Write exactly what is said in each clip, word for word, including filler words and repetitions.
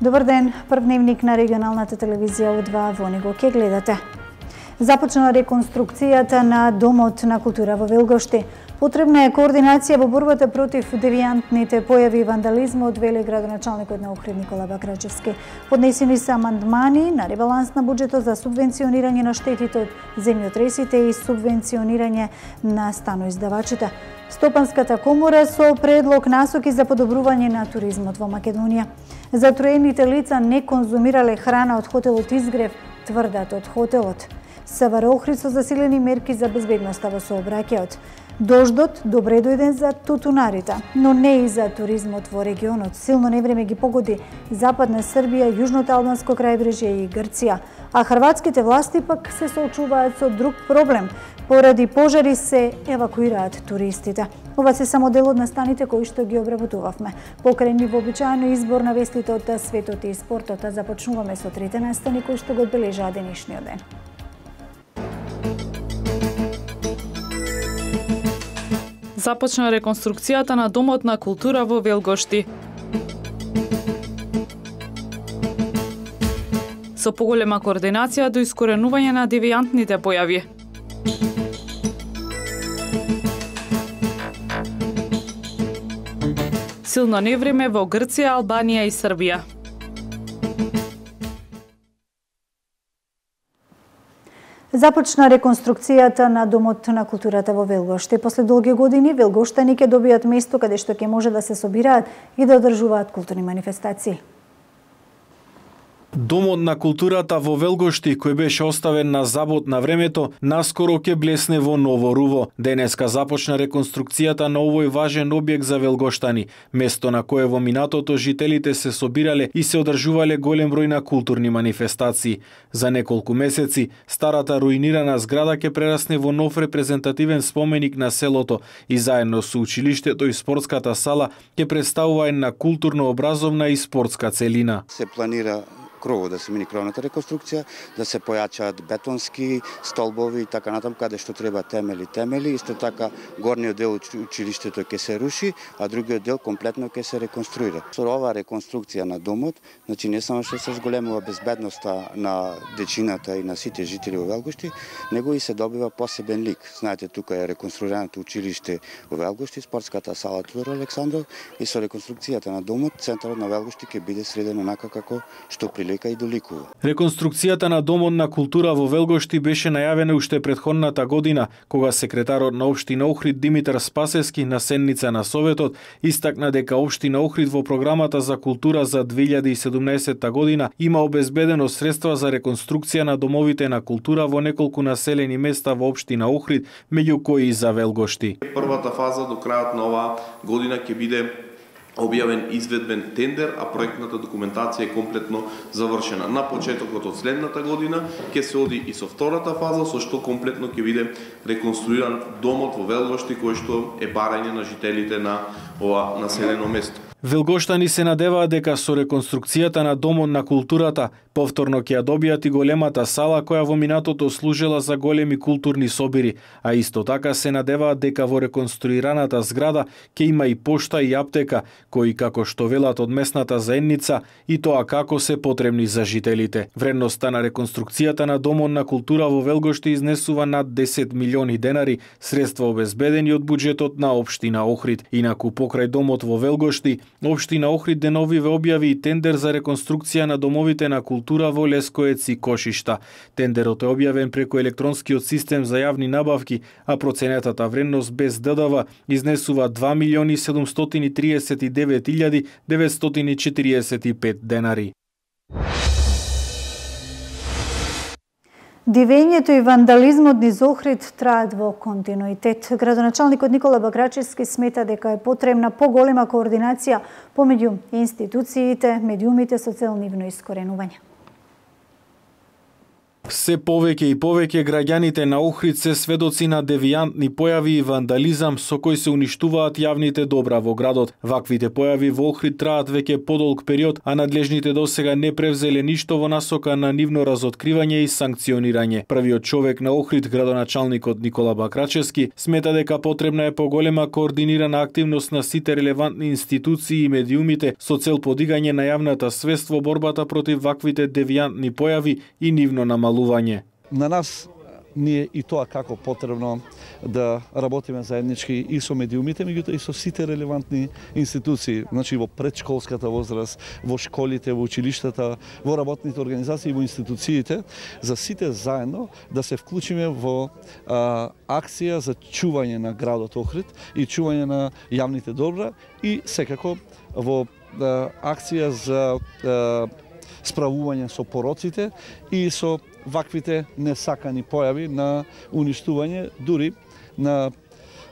Добар ден, прв дневник на регионалната телевизија О два во него ке гледате. Започна реконструкцијата на Домот на култура во Велгошти. Потребна е координација во борбата против девијантните појави и вандализмот, вели градоначалникот на Охрид Никола Бакрачевски. Поднесени се амандмани на ребаланс на буџетот за субвенционирање на штетите од земјотресите и субвенционирање на станоиздавачите. Стопанската комора со предлог насоки за подобрување на туризмот во Македонија. Затроените лица не конзумирале храна од хотелот Изгрев, тврдат од хотелот. СВР Охрид со засилени мерки за безбедноста во сообраќајот. Дождот добре дојден за тутунарите, но не и за туризмот во регионот. Силно невреме ги погоди Западна Србија, Јужното албанско крајбрежје и Грција, а хрватските власти пак се соочуваат со друг проблем. Поради пожари се евакуираат туристите. Ова се само дел од настаните кои што ги обработувавме. Покрај вообичаено избор на вестите од светот и спортот, започнуваме со трите настани кои што го одбележаа денешниот ден. Започна реконструкцијата на Домот на култура во Велгошти. Со поголема координација до искоренување на девијантните појави. Силно невреме во Грција, Албанија и Србија. Започна реконструкцијата на Домот на културата во Велгошти. После долги години велгоштани ќе добијат место каде што ќе може да се собираат и да одржуваат културни манифестации. Домот на културата во Велгошти, кој беше оставен на забот на времето, наскоро ќе блесне во ново руво. Денеска започна реконструкцијата на овој важен објект за велгоштани, место на кое во минатото жителите се собирале и се одржувале голем број на културни манифестации. За неколку месеци, старата руинирана зграда ќе прерасне во нов репрезентативен споменик на селото и заедно со училиштето и спортската сала ќе представува една културно-образовна и спортска целина. Се планира крово да се мини кровната реконструкција, да се појачаат бетонски столбови и така натаму каде што треба темели, темели, исто така горниот дел училиштето ќе се руши, а другиот дел комплетно ќе се реконструира. Со оваа реконструкција на домот, значи не само што се зголемува безбедноста на дечината и на сите жители во Велгошти, него и се добива посебен лик. Знаете, тука е реконструираното училиште во Велгошти, спортската сала Тодор Александров, и со реконструкцијата на домот центарот на Велгошти ќе биде среден онака како што прилика и доликува. Реконструкцијата на Домот на култура во Велгошти беше најавена уште предходната година, кога секретарот на општина Охрид Димитар Спасевски на седница на Советот истакна дека општина Охрид во програмата за култура за две илјади и седумнаесетта година има обезбедено средства за реконструкција на домовите на култура во неколку населени места во општина Охрид, меѓу кои и за Велгошти. Првата фаза до крајот на оваа година ќе биде објавен изведбен тендер, а проектната документација е комплетно завршена. На почетокот од следната година ќе се оди и со втората фаза, со што комплетно ќе биде реконструиран домот во Велгошти, кој што е барање на жителите на ова населено место. Велгоштани се надеваат дека со реконструкцијата на Домот на културата повторно ќе ја добијат и големата сала која во минатото служела за големи културни собири, а исто така се надеваат дека во реконструираната зграда ќе има и пошта и аптека, кои како што велат од местната заедница и тоа како се потребни за жителите. Вредноста на реконструкцијата на Домот на култура во Велгошти изнесува над десет милиони денари, средства обезбедени од буџетот на општина Охрид. Инаку покрај Домот во Велгошти, општина Охрид деновиве објави и тендер за реконструкција на домовите на култура во Лескоец и Кошишта. Тендерот е објавен преку електронскиот систем за јавни набавки, а проценетата вредност без Д Д В изнесува два милиони седумстотини триесет и девет илјади деветстотини четириесет и пет денари. Дивењето и вандализмот низ Охрид траат во континуитет. Градоначалникот Никола Бакрачевски смета дека е потребна поголема координација помеѓу институциите, медиумите со цел нивно искоренување. Се повеќе и повеќе граѓаните на Охрид се сведоци на девијантни појави и вандализам со кои се уништуваат јавните добра во градот. Ваквите појави во Охрид траат веќе подолг период, а надлежните досега не превзеле ништо во насока на нивно разоткривање и санкционирање. Првиот човек на Охрид, градоначалникот Никола Бакрачевски, смета дека потребна е поголема координирана активност на сите релевантни институции и медиумите со цел подигање на јавната свест во борбата против ваквите девијантни појави и нивно намалување. На нас ние и тоа како потребно да работиме заеднички и со медиумите, меѓутоа и со сите релевантни институции, значи во предшколската возраст, во школите, во училиштата, во работните организации, во институциите, за сите заедно да се вклучиме во а, акција за чување на градот Охрид и чување на јавните добра и секако во а, акција за а, справување со пороците и со ваквите несакани појави на уништување, дури на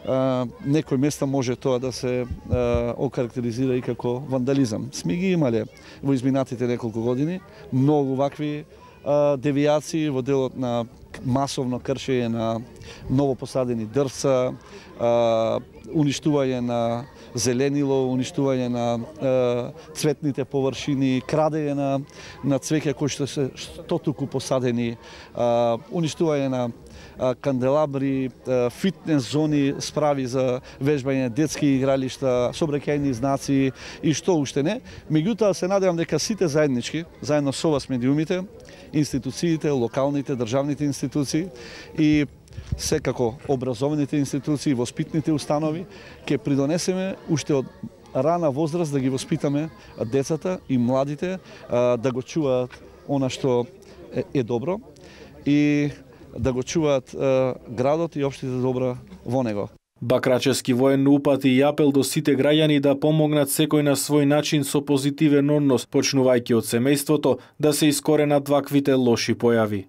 а, некои места може тоа да се а, окарактеризира и како вандализам. Сме ги имале во изминатите неколку години многу вакви а, девијации во делот на масовно кршење на новопосадени дрвца, а, уништување на зеленило, уништување на е, цветните површини, крадење на, на цвеќе кои што се стотуку посадени, е, уништување на е, канделабри, е, фитнес зони, справи за вежбање детски игралишта, сообраќајни знаци и што уште не. Меѓутоа се надевам дека сите заеднички, заедно со вас медиумите, институциите, локалните, државните институции и секако образовните институции, воспитните установи, ќе придонесеме уште од рана возраст да ги воспитаме децата и младите да го чуваат она што е добро и да го чуваат градот и општите добра во него. Бакрачевски военно упати и апел до сите граѓани да помогнат секој на свој начин со позитивен однос, почнувајќи од семејството, да се искоренат ваквите лоши појави.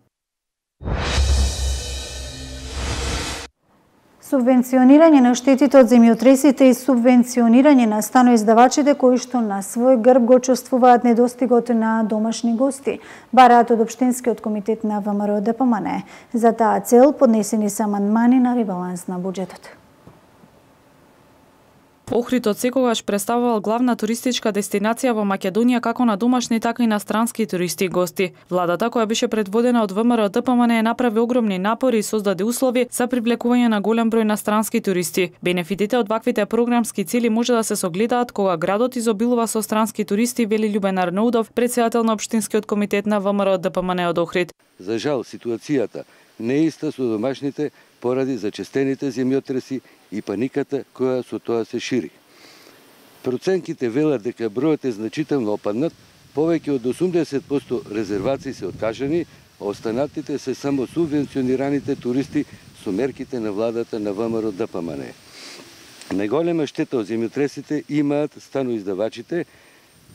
Субвенционирање на штетите од земјотресите и субвенционирање на станоиздавачите кои што на свој грб го чувствуваат недостигот на домашни гости, бараат од Општинскиот комитет на ВМРО Д П М Н. За таа цел поднесени се амандмани на ребаланс на буџетот. Охрид од секогаш представувал главна туристичка дестинација во Македонија како на домашни, така и на странски туристи и гости. Владата, која беше предводена од ВМРО Д П М Н, направи огромни напори и создаде услови за привлекување на голем број на странски туристи. Бенефитите од ваквите програмски цели може да се согледаат кога градот изобилува со странски туристи, вели Љубен Арнаудов, претседател на Општинскиот комитет на ВМРО Д П М Н од Охрид. За жал, ситуацијата не е иста со домашните поради зачестените земјотреси и паниката која со тоа се шири. Проценките велат дека бројот е значително опаднат, повеќе од осумдесет проценти резервации се откажани, а останатите се само субвенционираните туристи со мерките на владата на ВМРО Д П М Н. Најголема штета од земјотресите имаат станоиздавачите,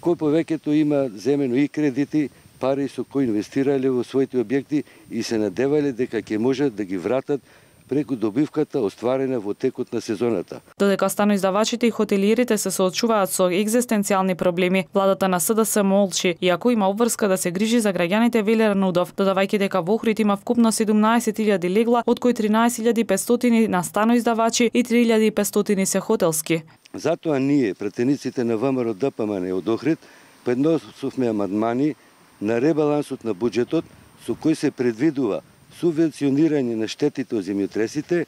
кои повеќето имаат земено и кредити, пари со кои инвестирале во своите објекти и се надевале дека ќе можат да ги вратат преку добивката остварена во текот на сезоната. Додека станоиздавачите и хотелиерите се соочуваат со екзистенцијални проблеми, владата на С Д С молчи, иако има обврска да се грижи за граѓаните, вели Арнаудов, додавајќи дека во Охрид има вкупно седумнаесет илјади легла, од кои тринаесет илјади и петстотини на станоиздавачи и три илјади и петстотини се хотелски. Затоа ние, претениците на ВМРО Д П М Н од Охрид, поднесовме амандмани на ребалансот на буџетот со кој се предвидува субвенционирање на штетите од земјотресите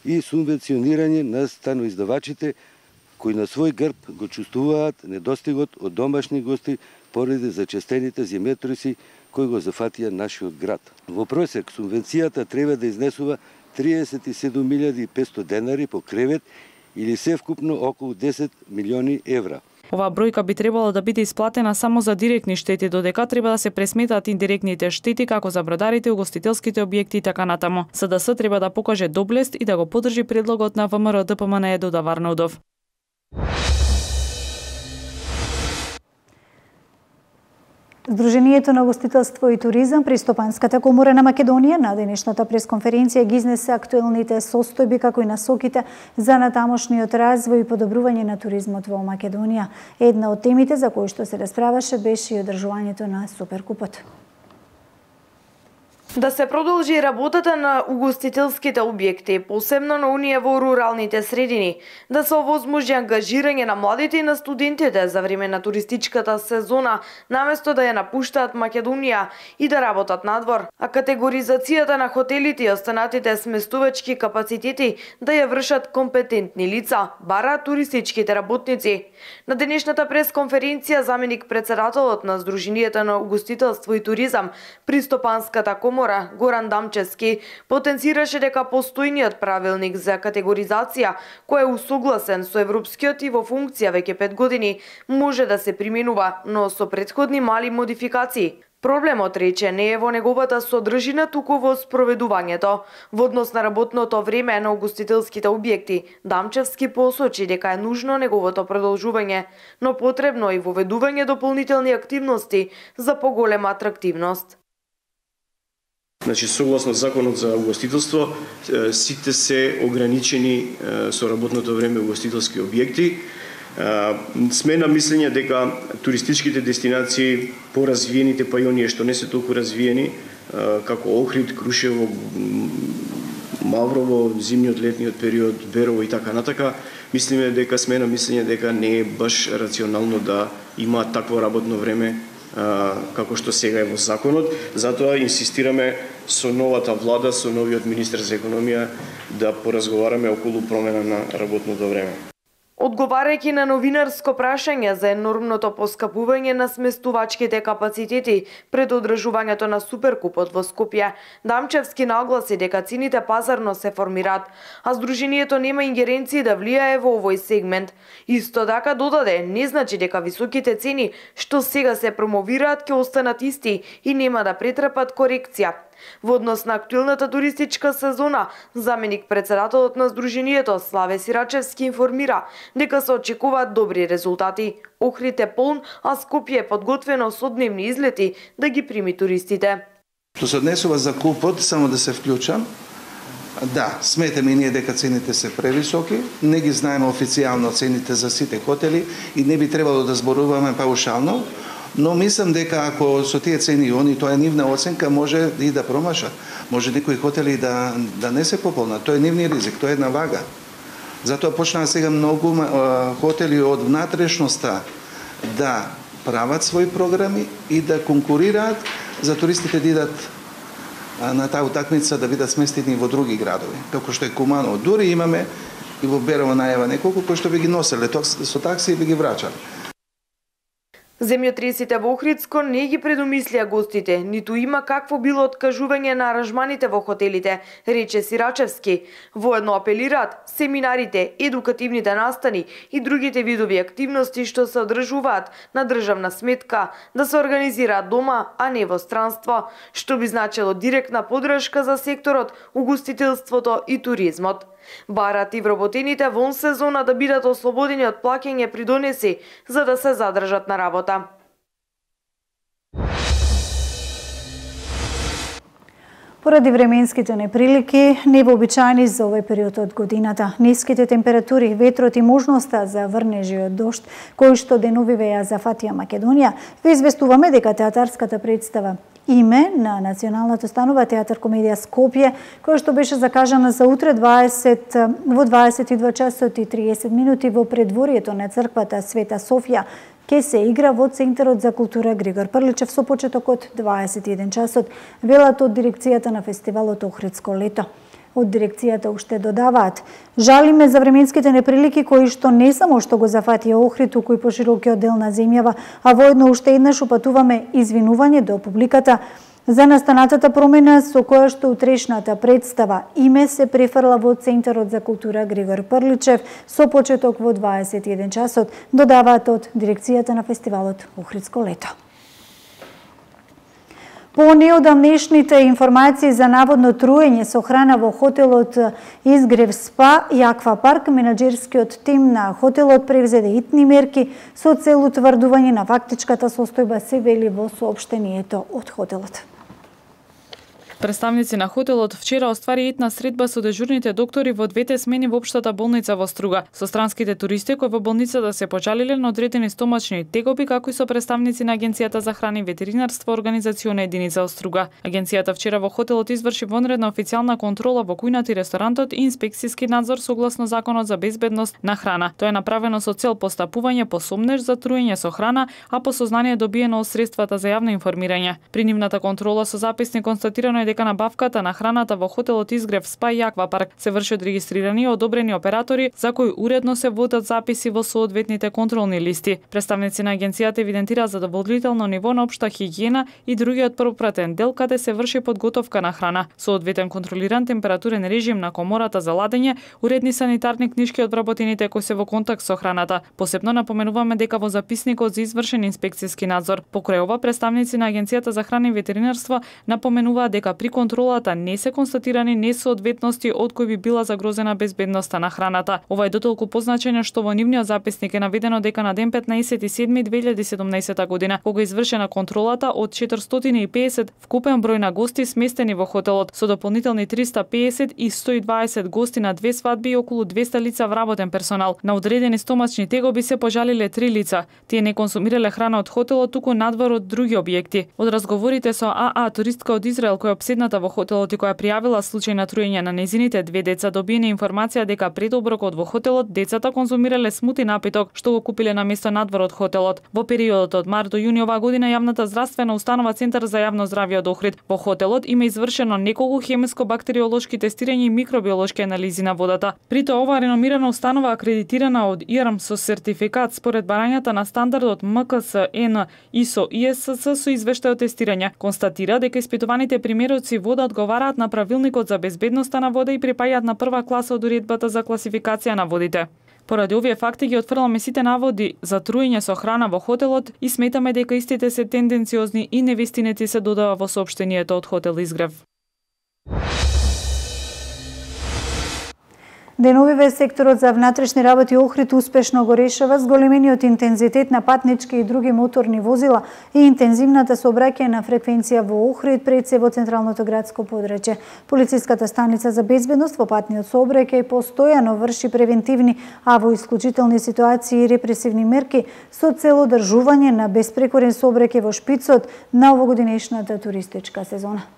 и субвенционирање на станоиздавачите кои на свој грб го чувствуваат недостигот од домашни гости поради зачестените земјотреси кои го зафатија нашиот град. Во просек субвенцијата треба да изнесува триесет и седум илјади и петстотини денари по кревет или севкупно околу десет милиони евра. Оваа бројка би требало да биде исплатена само за директни штети, додека треба да се пресметаат индиректните штети како за бродарите, угостителските објекти и така натаму. С Д С треба да покаже доблест и да го поддржи предлогот на ВМРО Д П М Н, додава Арнаудов. Сдруженијето на гостителство и туризам при Стопанската комора на Македонија на денешната пресконференција ги изнесе актуелните состојби како и насоките за натамошниот развој и подобрување на туризмот во Македонија. Една од темите за кои што се расправаше беше и одржувањето на Суперкупот. Да се продолжи работата на угостителските објекти, посебно на оние во руралните средини, да се овозможи ангажирање на младите и на студентите за време на туристичката сезона, наместо да ја напуштаат Македонија и да работат надвор, а категоризацијата на хотелите и останатите сместувачки капацитети да ја вршат компетентни лица, бара туристичките работници. На денешната пресконференција заменик председателот на Сдруженијата на угостителство и туризам при Стопанската комора Горан Дамчевски потенцираше дека постојниот правилник за категоризација, кој е усогласен со европскиот и во функција веќе пет години, може да се применува, но со претходни мали модификации. Проблемот, рече, не е во неговата содржина, туку во спроведувањето. Во однос на работното време на угостителските објекти, Дамчевски посочи дека е нужно неговото продолжување, но потребно и воведување дополнителни активности за поголема атрактивност. Значи, согласно законот за угостителство, сите се ограничени со работното време угостителски објекти. Сме на мислење дека туристичките дестинации, поразвиените, па и оние што не се толку развиени, како Охрид, Крушево, Маврово, зимниот, летниот период, Берово и така натака, мислиме дека сме на мислење дека не е баш рационално да има такво работно време како што сега е во законот. Затоа инсистираме со новата влада, со новиот министер за економија да поразговараме околу промена на работното време. Одговарајќи на новинарско прашање за енормното поскапување на сместувачките капацитети пред одржувањето на Суперкупот во Скопје, Дамчевски нагласи дека цените пазарно се формираат, а Сдруженијето нема ингеренции да влијае во овој сегмент. Исто така додаде, не значи дека високите цени што сега се промовираат ќе останат исти и нема да претрпат корекција. Во однос на актуелната туристичка сезона, заменик председателот на Сдруженијето Славе Сирачевски информира дека се очекуваат добри резултати. Охрид е полн, а Скопје е подготвено со дневни излети да ги прими туристите. Што се однесува за купот, само да се вклучам. Да, сметаме и ние дека цените се превисоки, не ги знаеме официјално цените за сите хотели и не би требало да зборуваме паушално. Но мислам дека ако со тие цени они, тоа е нивна оценка, може и да промашат. Може некои хотели да, да не се пополнат. Тоа е нивни ризик, тоа е една вага. Затоа почнаа сега многу хотели од внатрешноста да прават своји програми и да конкурираат за туристите да идат на таа утакмица, да бидат сместени во други градови. Како што е Куманово. Дури имаме и во Берово најава неколку кои што би ги носеле со такси и би ги врачали. Земјотресите во Охридско не ги предумислија гостите, ниту има какво било откажување на аранжманите во хотелите, рече Сирачевски. Воедно апелираат семинарите, едукативните настани и другите видови активности што се одржуваат на државна сметка да се организираат дома, а не во странство, што би значило директна поддршка за секторот, угостителството и туризмот. Барат и вработените вон сезона да бидат ослободени од плаќање придонеси за да се задржат на работа. Поради временските неприлики, невообичаени за овој период од годината, ниските температури, ветрот и можноста за врнежи од дожд, кои што денови веја зафатија Македонија, ве известуваме дека театарската представа Име на Националната установа Театар Комедија Скопје, која што беше закажана за утре дваесет во дваесет и два часот и триесет минути во предворието на црквата Света Софија, ке се игра во Центарот за култура Григор Прличев со почеток од дваесет и еден часот, велат од дирекцијата на фестивалот Охридско лето. Од дирекцијата уште додаваат: жалиме за временските неприлики кои што не само што го зафатија Охрид, туку и поширокиот дел на земјава, а воедно уште еднаш упатуваме извинување до публиката за настанатата промена со која што утрешната представа Име се префрла во Центарот за култура Григор Прличев со почеток во дваесет и еден часот, додаваат од дирекцијата на фестивалот Охридско лето. По неодамнешните информации за наводно труење со храна во хотелот Изгрев Спа и Аквапарк, менаџерскиот тим на хотелот превзеде итни мерки со цел утврдување на фактичката состојба, се вели во соопштението од хотелот. Представници на хотелот вчера оствари етна средба со дежурните доктори во двете смени во општата болница во Струга, со странските туристи кои во болницата се почалиле на одредени стомачни тегоби, како и со представници на Агенцијата за храна и ветеринарство, организациона единица од Струга. Агенцијата вчера во хотелот изврши вонредна официјална контрола во кујната и ресторантот и инспекцијски надзор согласно Законот за безбедност на храна. Тоа е направено со цел постапување по сомнеж за труење со храна, а по сознание добиено од средствата за јавно информирање. При нивната контрола со записник констатирано е дека набавката на храната во хотелот Изгрев Спа и Аквапарк се врши од регистрирани и одобрени оператори за кои уредно се водат записи во соодветните контролни листи. Представници на агенцијата евидентираа задоволително ниво на општа хигиена и другиот пропратен дел каде се врши подготовка на храна, соодветен контролиран температурен режим на комората за ладење, уредни санитарни книшки од вработените кои се во контакт со храната. Посебно напоменуваме дека во записникот за извршен инспекцијски надзор. Покрај ова, представници на Агенцијата за храна и ветеринарство напоменуваат дека при контролата не се констатирани несоодветности од кои би била загрозена безбедноста на храната. Ова е дотолку позначено што во нивниот записник е наведено дека на ден петнаесети седми две илјади и седумнаесета година, кога извршена контролата од четиристотини и педесет вкупен број на гости сместени во хотелот, со дополнителни триста и педесет и сто и дваесет гости на две свадби и околу двеста лица вработен персонал. На одредени стомачни тегоби се пожалиле три лица. Тие не консумирале храна од хотелот, туку надвор од други објекти. Од разговорите со АА туристка од Израел која обседната во хотелот и која пријавила случај на труење на незините две деца, добиена информација дека пред оброкот во хотелот децата конзумирале смути напиток што го купиле на место надвор од хотелот. Во периодот од март до јуни оваа година јавната здравствена установа Центар за јавно здравје од Охрид во хотелот има извршено неколку хемиско-бактериолошки тестирања и микробиолошки анализи на водата. При тоа оваа реномирана установа акредитирана од И Р М со сертификат според барањата на стандардот М К С Н И С О И С С со извештај од тестирање, констатира дека испитуваните примероци вода одговараат на правилникот за безбедноста на вода и припаѓаат на прва класа од уредбата за класификација на водите. Поради овие факти ги отфрламе сите наводи за труење со храна во хотелот и сметаме дека истите се тенденциозни и невистините се додава во соопштението од хотел Изгрев. Деновиве секторот за внатрешни работи Охрид успешно го решава зголемениот интензитет на патнички и други моторни возила и интензивната сообраќајна на фреквенција во Охрид пред се во централното градско подрачје. Полициската станица за безбедност во патниот сообраќај постојано врши превентивни, а во исклучителни ситуации и репресивни мерки со цел одржување на беспрекорен сообраќај во шпицот на овогодинешната туристичка сезона.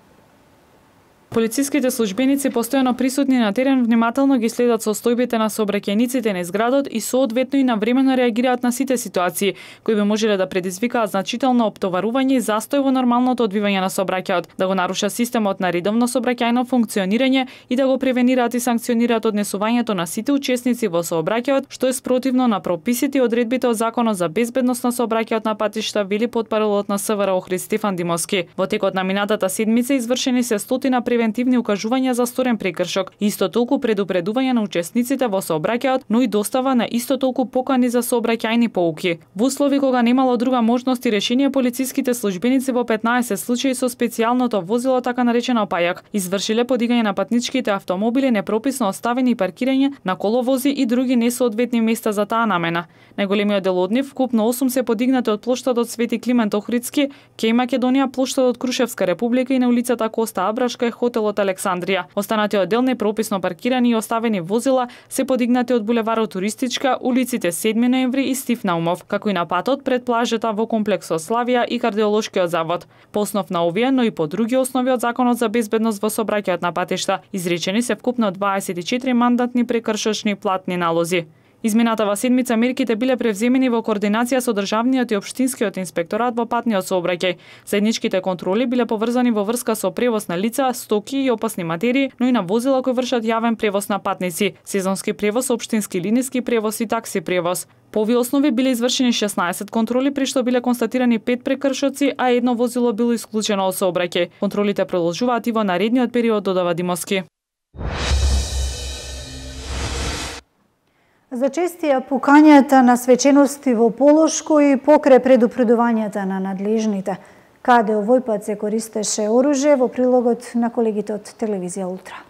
Полициските службеници постојано присутни на терен внимателно ги следат состојбите на сообраќајниците на изградот и соодветно и навремено реагираат на сите ситуации кои би можеле да предизвикаат значително оптоварување и застој во нормалното одвивање на сообраќајот, да го наруша системот на редовно сообраќајно функционирање и да го превенираат и санкционираат однесувањето на сите учесници во сообраќајот, што е спротивно на прописите и одредбите од Законот за безбедност на сообраќајот на патишта, вели потпаролот на С В Р Охрид Стефан Димовски. Во текот на минатата седмица извршени се стотина превентивни укажувања за сторен прекршок, исто толку предупредување на учесниците во сообраќајот, но и достава на исто толку покани за сообраќајни поуки. Во услови кога немало друга можност и решение, полициските службеници во петнаесет случаи со специјалното возило, така наречено пајак, извршиле подигање на патничките автомобили, непрописно оставени и паркирање на коловози и други несоодветни места за таа намена. Најголемиот дел од нив, вкупно осум, се подигнати од плоштадот Свети Климент Охридски, кеј Македонија, плоштадот Крушевска република и на улицата Коста Абрашка и хотелот Александрија. Останатиот дел непрописно паркирани и оставени возила се подигнати од булеварот Туристичка, улиците седми ноември и Стив Наумов, како и на патот пред плажата во комплексот Славија и кардиолошкиот завод. По основ на овие, но и по други основи од Законот за безбедност во сообраќајот на патишта, изречени се вкупно дваесет и четири мандатни прекршочни платни налози. Изминатава седмица мерките биле превземени во координација со државниот и општинскиот инспекторат во патниот сообраќај. Заедничките контроли биле поврзани во врска со превоз на лица, стоки и опасни материи, но и на возила кои вршат јавен превоз на патници, сезонски превоз, општински линиски превоз и такси превоз. По овие основи биле извршени шеснаесет контроли, при што биле констатирани пет прекршоци, а едно возило било исклучено од сообраќај. Контролите продолжуваат и во наредниот период, додава Димовски. Зачестија пукањата на свечености во Полошко и покрај предупредувањата на надлежните. Каде овој пат се користеше оружје, во прилогот на колегите од телевизија Ултра.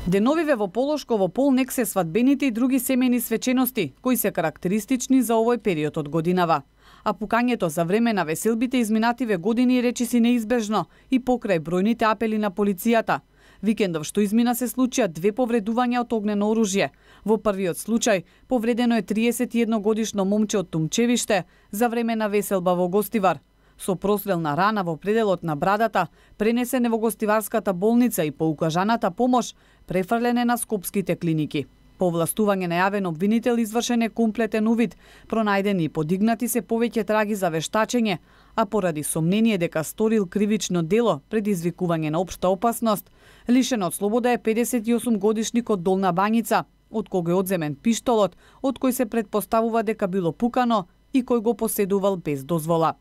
Деновиве во Полошко во полнек се свадбените и други семејни свечености, кои се карактеристични за овој период од годинава. а пукањето за време на веселбите изминативе години речиси неизбежно и покрај бројните апели на полицијата. Викендов што измина се случија две повредувања од огнено оружје. Во првиот случај повредено е триесет и едно годишно момче од Тумчевиште за време на веселба во Гостивар. Со прострелна рана во пределот на брадата, пренесене во Гостиварската болница и по укажаната помош, префрлене на скопските клиники. По властување на јавен обвинител извршен е комплетен увид, пронајдени и подигнати се повеќе траги за вештачење, а поради сомнение дека сторил кривично дело предизвикување на општа опасност, лишен од слобода е педесет и осум годишникот Долна Бањица, од кого е одземен пиштолот, од кој се предпоставува дека било пукано и кој го поседувал без дозвола.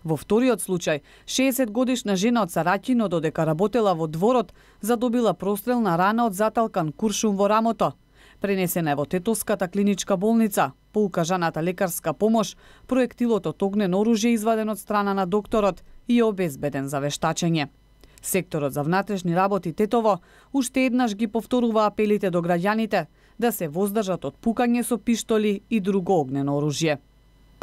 Во вториот случај, шеесет годишна жена од Сараќино, додека работела во дворот, задобила прострелна рана од заталкан куршум во рамото. Пренесена е во Тетовската клиничка болница. По укажаната лекарска помош, проектилот од огнено оружје изваден од страна на докторот и е обезбеден за вештачење. Секторот за внатрешни работи Тетово уште еднаш ги повторува апелите до граѓаните да се воздржат од пукање со пиштоли и друго огнено оружје.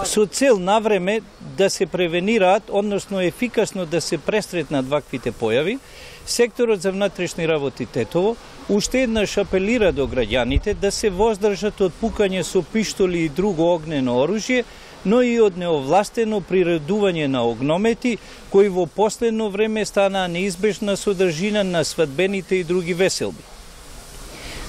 Со цел навреме да се превенираат, односно ефикасно да се пресретнат ваквите појави, секторот за внатрешни работи Тетово уште еднаш апелира до граѓаните да се воздржат од пукање со пиштоли и друго огнено оружје, но и од неовластено приредување на огномети, кои во последно време станаа неизбежна содржина на свадбените и други веселби.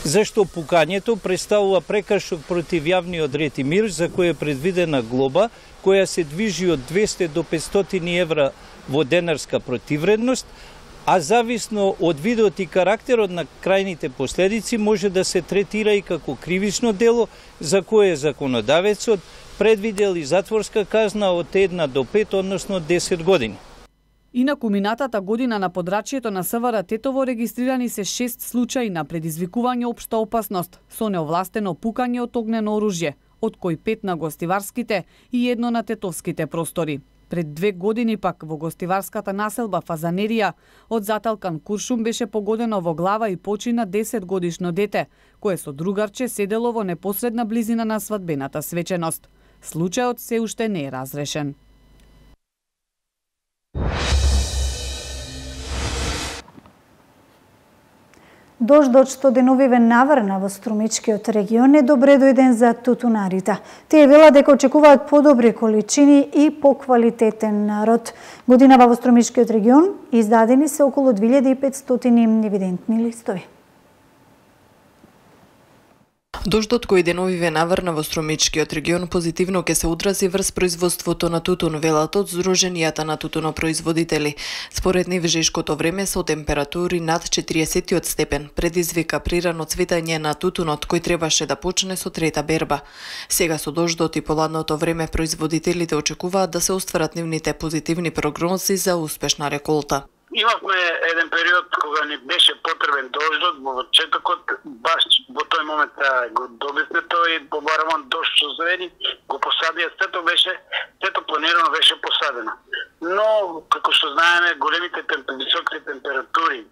Зашто пукањето представува прекршок против јавниот ред и мир, за кој е предвидена глоба, која се движи од двесте до петстотини евра во денарска противредност, а зависно од видот и карактерот на крајните последици може да се третира и како кривично дело, за кое законодавецот предвидел и затворска казна од една до пет, односно десет години. Инаку минатата година на подрачјето на СВР Тетово регистрирани се шест случаи на предизвикување општа опасност со неовластено пукање од огнено оружје, од кои пет на гостиварските и едно на тетовските простори. Пред две години пак во гостиварската населба Фазанерија од заталкан куршум беше погодено во глава и почина десет годишно дете, кое со другарче седело во непосредна близина на свадбената свеченост. Случајот се уште не е разрешен. Дождот што деновиве наврна во Струмичкиот регион е добре дојден за тутунарите. Тие вела дека очекуваат подобри количини и поквалитетен род. Годинава во Струмичкиот регион издадени се околу две илјади и петстотини евидентни листови. Дождот кој деновиве наврна во Струмичкиот регион позитивно ќе се одрази врз производството на тутун, велат од Сдруженијата на тутунопроизводители. Според нив жешкото време со температури над четириесет степен предизвика прирано цветање на тутунот кој требаше да почне со трета берба. Сега со дождот и поладното време производителите очекуваат да се остварат нивните позитивни прогнози за успешна реколта. Имавме еден период кога ни беше потребен дождот, во почетокот баш во тој момент го добивме тој и побарамон дожд со звени, го посадија, сето беше, сето планирано беше посадено. Но, како што знаеме, големите темп, високите температури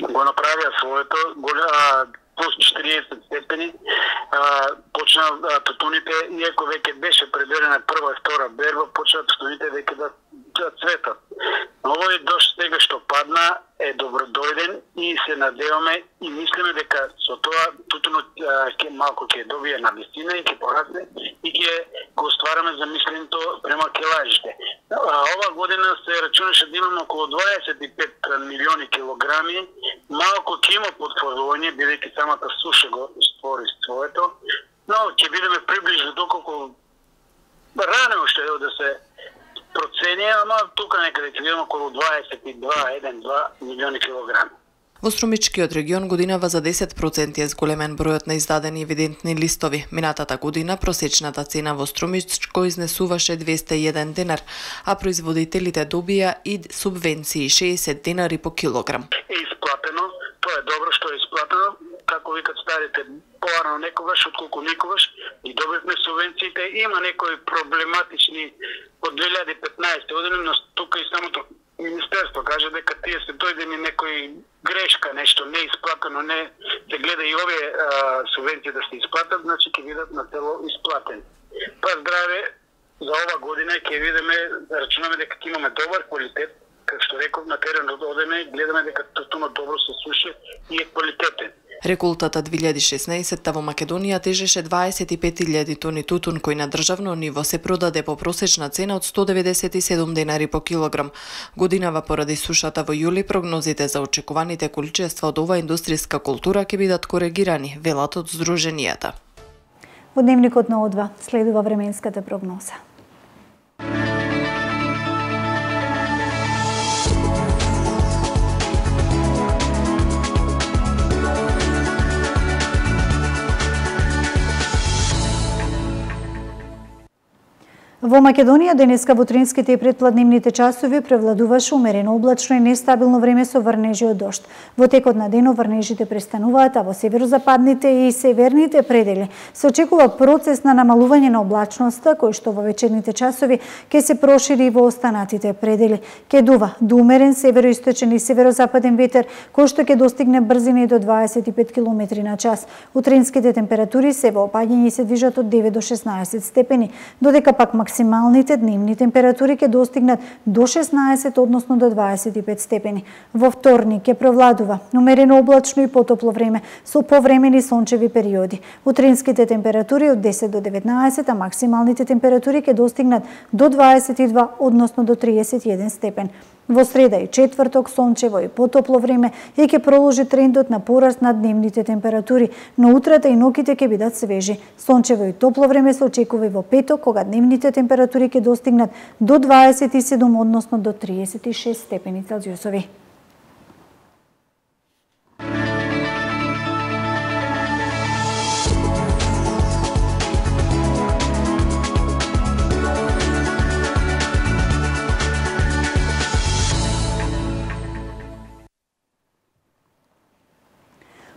го направија своето, плюс четириесет степени, почна тутуните, иако веќе беше предвидена прва и втора берба, почна тутуните веќе да цветат. Овој дожд сега што падна е добродојден и се надеваме и мислиме дека со тоа тутунот ќе малку ќе добие на висина и ќе порасне и ќе го ствараме замисленото према килажите. Ова година се рачунаше да имаме околу дваесет и пет милиони килограми, малку ќе има потворување, бидејќи самата суша го створи своето, но ќе бидеме приближно доколку рано уште да се процени, ама тука некаде ќе видиме околу дваесет и два до милиони килограми. Во Струмичкиот регион годинава за десет проценти е зголемен бројот на издадени евидентни листови. Минатата година просечната цена во Струмичко изнесуваше двесте и еден денар, а производителите добија и субвенции шеесет денари по килограм. Е исплатено, тоа е добро што е исплатено, како викат старите, порано некогаш, отколку никогаш, и добивме субвенциите. Има некои проблематични од две илјади и петнаесета година, но тука и самото Министерство каже дека тие се дојдени некои грешка, нешто не исплатено, не се гледа и овие а, субвенции да се исплатат, значи ќе бидат на цело исплатени. Па здраве, за ова година ќе видиме, да рачунаме дека ќе имаме добар квалитет, како што реков, на теренот одеме, гледаме дека тутунот добро се суши и е квалитетен. Реколтата две илјади и шеснаесетта во Македонија тежеше дваесет и пет илјади тони тутун кој на државно ниво се продаде по просечна цена од сто деветдесет и седум денари по килограм. Годинава поради сушата во јули прогнозите за очекуваните количества од оваа индустријска култура ќе бидат коригирани, велат од здруженијата. Во дневникот на О два следува временската прогноза. Во Македонија денеска во утринските и предпладневните часови превладуваше умерено облачно и нестабилно време со врнежи од дожд. Во текот на денот врнежите престануваат, а во северозападните и северните предели се очекува процес на намалување на облачноста, кој што во вечерните часови ќе се прошири во останатите предели. Ќе дува до умерен североисточен и северозападен ветер, кој што ќе достигне брзина и до дваесет и пет километри на час. Утринските температури се во опаѓање и се движат од девет до шеснаесет степени, додека пак максималните дневни температури ќе достигнат до шеснаесет, односно до дваесет и пет степени. Во вторник ќе провладува умерено облачно и потопло време со повремени сончеви периоди. Утринските температури од десет до деветнаесет, а максималните температури ќе достигнат до дваесет и два, односно до триесет и еден степен. Во среда и четврток сончево и потопло време и ќе продолжи трендот на пораст на дневните температури, но утрата и ноќите ќе бидат свежи. Сончево и топло време се очекува и во петок, кога дневните температури ќе достигнат до дваесет и седум, односно до триесет и шест степени Целзиусови.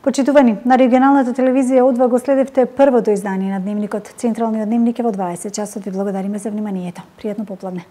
Почитувани, на регионалната телевизија О два го следевте првото издание на Дневникот. Централниот дневник е во дваесет часот. Ви благодариме за вниманието. Пријатно попладне.